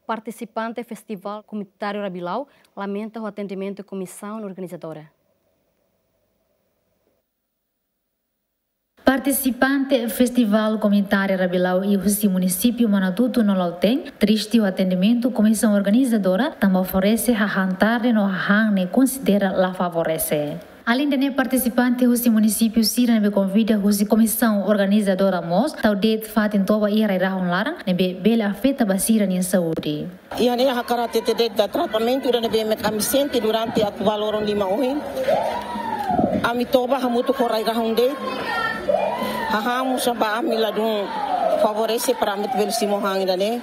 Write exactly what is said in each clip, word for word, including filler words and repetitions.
Partisipante Festivál Komunitáriu Rabilau lamenta ho atendimentu komisaun organizadora. Partisipante Festivál Komunitáriu Rabilau iha husi munisípiu Manatutu no Lautém triste ho atendimentu komisaun organizadora, tanba oferese hahán tarde no hahán ne'e konsidera la favorese. Aleinde ne'e, partisipante husi munisípiu sira ne'ebé konvida husi komisaun organizadora mós tau de'it fatin toba iha rai-rahun laran ne'ebé bele afeta ba sira-nia saúde. Iha ne'e ha'u hakarak hatete de'it tratamentu ida ne'ebé mak ami sente durante atu ba loron lima ohin. Ami toba hamutuk ho rai-rahun de'it. Hahán mós ba ami ladún favorese para ami bele simu hahán ida-ne'e.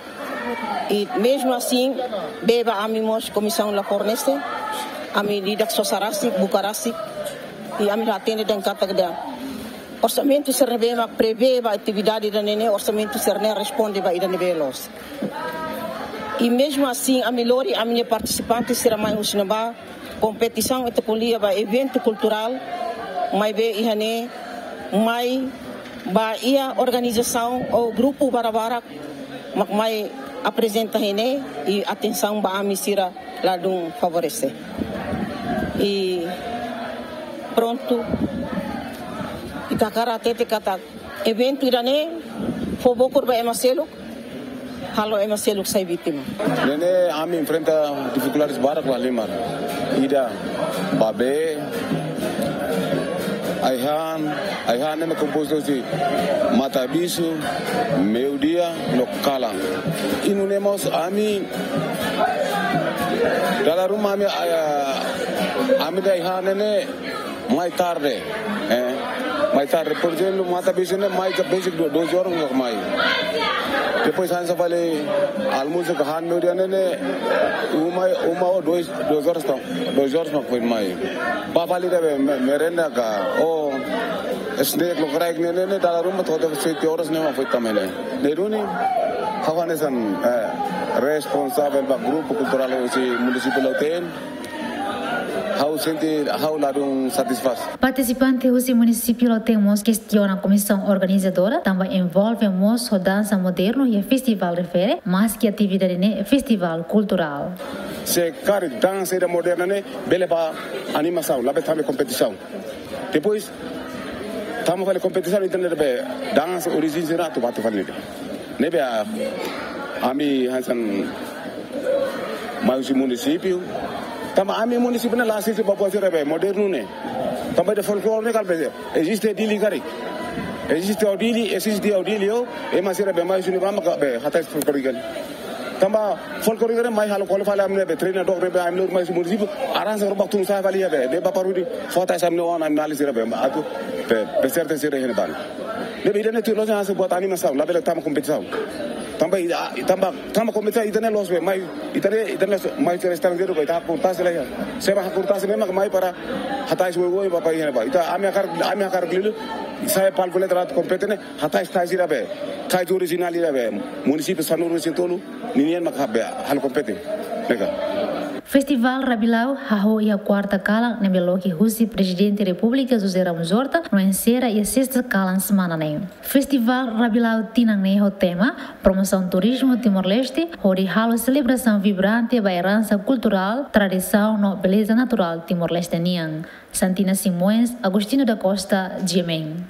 I mezmu asin, bee ba ami mós komisaun la fornese. Ami di'ak sosa rasik, buka rasik. I ami la hatene dehan katak orsamentu sira ne'ebé mak prevee ba atividade ida-ne'e ne'e, orsamentu sira-ne'e responde ba ida ne'ebé loos. I mezmu asin, ami lori ami-nia partisipante sira mai husi ne'ebá, kompetisaun ita ko'alia ba eventu kulturál, maibé iha ne'e mai ba iha organizasaun ou grupu barak-barak mak mai aprezenta iha ne'e, i atensaun ba ami sira ladún favorese. I prontu, ita hakarak hatete katak eventu ida-ne'e fó bokur ba ema seluk, halo ema seluk sai vítima. Ne'e ne'e ami enfrenta difikuldades barak la halimar. Ida ba bee, ai-han, ai-han ne'e kompostu husi mata-bisu, meiudia no kalan. I nune'e mós ami, dala ruma ami, ah, ami-nia ai-han ne'e ne'e mai tarde, eh, mai tarde. Por ezemplu, mata-bisu ne'e mai ka besik do-, doze horas mak mai. Depois hanesan fali almusu ka han meiudia ne'e ne'e uma, uma ou dois, dois horas tau, dois horas mak foin mai. Ba fali ida be me-, merenda ka ou snack lokraik ne'e ne'e ne'e dala ruma to'o sete horas ne'e mak foin tama ne'e. Ne'e duni, ha'u hanesan, eh, responsavel ba grupu kulturál husi munisípiu Lautém. Ha'u sente, ha'u ladún satisfás. Partisipante husi munisípiu Lautém mós kestiona komisaun organizadora, tanba envolve mós ho dansa modernu iha festivál refere, maski atividade ne'e festivál kulturál. Se karik dansa ida moderna ne'e bele ba animasaun, labele tama kompetisaun. Depois, tama fali kompetisaun, ita ne'e be dansa orijen sira atu bá fali ne'e. Ne'ebé, ah, ami hanesan mai husi munisípiu. Tanba ami munisípiu ne'e la asiste ba buat sira be modernu ne'e. Tanba ida folklore ne'e kala be eziste Dili karik. Eziste iha Dili, eziste iha Dili, oh, ema sira be mai husi ne'ebá mak be hatais folklore ne'e. Tanba folklore ne'e mai halo kole fali ami ne'ebé treinadór ne'ebé ami lori mai husi munisípiu, arranja roupa tun sai fali iha be, be ba parudi, fó hatais ami-nia oan, ami-nia alin sira be, atu be, be serte sira iha ne'ebá. Ne'ebé ida-ne'e tuir loos hanesan buat animasaun, labele tama kompetisaun. Tanba, ah, tanba, tama kompetisaun ita-nia loos be, mai, ita-nia, ita-nia loos, mai sira estranjeiru be, ita hakurtasi la iha. Se ba hakurtasi ne'e mak mai para hatais oioin ba, ba iha ne'ebá. Ita, ami hakarak, ami hakarak liuliu, sai palku letra atu kompete ne'e, hatais tais ida be, tais orijinál ida be, munisípiu sanulu-resin-tolu ninian mak be halo kompete. Ne'e ka. Festivál Rabilau hahú iha kuarta kalan ne'ebé loke husi Prezidente Repúblika José Ramos Horta no ensera iha sesta kalan semana ne'e. Festivál Rabilau tinan ne'e ho tema Promosaun Turizmu Timor-Leste, hodi halo selebrasaun vibrante ba eransa kulturál, tradisaun no beleza naturál Timor-Leste nian. Santina Simões, Agostinho da Costa, G M N.